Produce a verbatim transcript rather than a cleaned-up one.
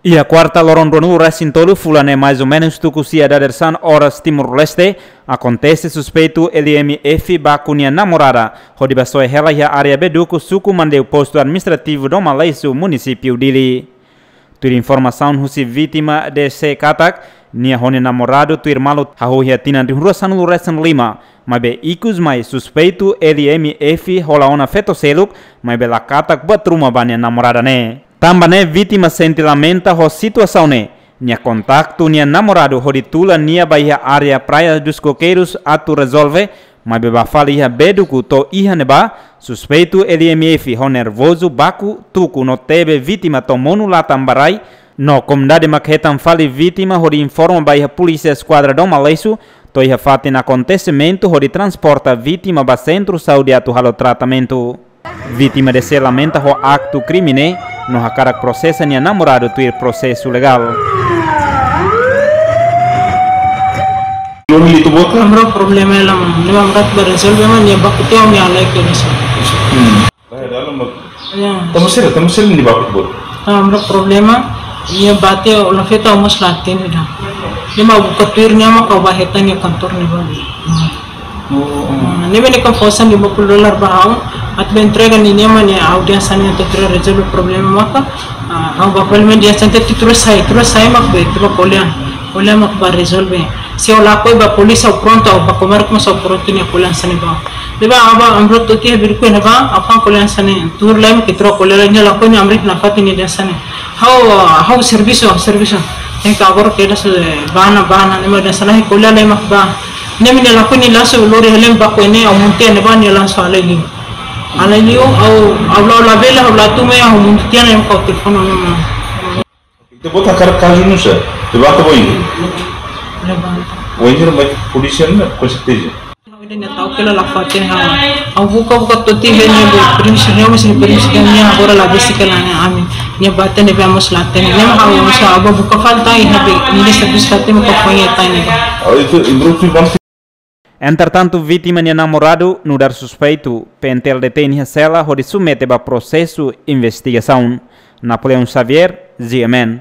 Iha kuarta loron ruanulu resin tolu fulan ne'e, mais ou menus tuku sia dadeer-saan oras Timor-Leste, akontese suspeitu L M F baku nia namorada hodi bá soe hela iha área Beduku, suku Mandeu, postu administrativu Dom Aleixo, munisípiu Dili. Tuir informasaun husi vítima D C katak, nia ho nia namoradu tuir malu hahú iha tinan rihun rua sanulu resin lima, maibé ikus mai suspeitu L M F hola ona feto seluk, maibé la katak buat ruma ba nia namorada ne'e. Tanba ne'e vítima sente lamenta ho situasaun ne'e, nia kontaktu nia namoradu hodi tula nia ba iha área Praia dos Coqueiros atu rezolve, maibé bá fali iha Beduku, to'o iha ne'ebá suspeitu L M F ho nervozu baku, tuku no tebe vítima to'o monu latan ba rai, no komunidade mak hetan fali vítima hodi informa ba iha Polísia Eskuadra Dom Aleixo, to'o iha fatin akontesimentu hodi transporta vítima ba sentru saúde atu halo tratamentu. Vítima D C lamenta ho aktu krime ne'e, no hakarak prosesa nia namoradu tuir prosesu legál. Lori itu buat kan? Amra problema ela, mano. Nia amra bá rezolve, mano, nia baku tiha nia lai ke bisa. Hmm. Lah, dalam bak. Ya. Tamu sira, tamu sira nia baku buat. Amra problema, nia bá tiha, la feto mós la hatene ida. Nia mak buka tuir, nia mak bá hetan nia kantor ne'ebá. Hmm. Oh, oh. Ah, ne'ebé nia konfirma lima puluh dolar ba ha'u, atu bá entrega ninia, mano, nia audiénsia ne'e atu rezolve problema maka, ah, ha'u bá fali, mano, dia sente tuir sai, tuir sai mak bá, tuir ko'alia, ko'alia mak bá rezolve. Se ha'u lakohi ba polísia, ha'u prontu, ha'u bá komer kuma ha'u prontu nia ko'alia hanesan ne'e ba. Ne'ebá, ha'u bá, amra to'o tiha Beduku ne'ebá, ha'u fa'an ko'alia hanesan ne'e, tuir lai mak tuir ko'alia lai, nia lakohi nia amra nafatin nia hanesan ne'e. Ha'u, ha'u servisu, servisu. Tenke agora kedas, eh, bá ona, bá ona, nia mak hanesan ne'e, ko'alia lai mak bá. Ne'e mak nia lakohi nia langsung lori hela baku ne'e, ha'u monu tiha ne'ebá, nia langsung halai liu. Halai liu, ha'u, ha'u la, la bele, ha'u la tun mai, ha'u monu tiha ne'e, ha'u telefone ona. Ita bota kazu nusá, levanta boin. Levanta. Boin, mas polísia ne'e, com certeza. Ha'u ida ne'e tau kela la fatin ha. Ha'u buka, buka to'o tiha ne'e, be permisu nia, mas permisu nia agora la besik kela ne'e ami. Nia bá tiha ne'ebé mós la hatene. Ne'e mak ha'u mós ha'u bá buka fali tan, iha be, nia servisu tan, mak foin iha tan ne'ebá. Oh, itu improvisu bantu. Entretantu, vítima nia namoradu nu'udar suspeitu, P N T L detein iha sela hodi submete ba prosesu investigasaun. Napoleão Xavier, G M N.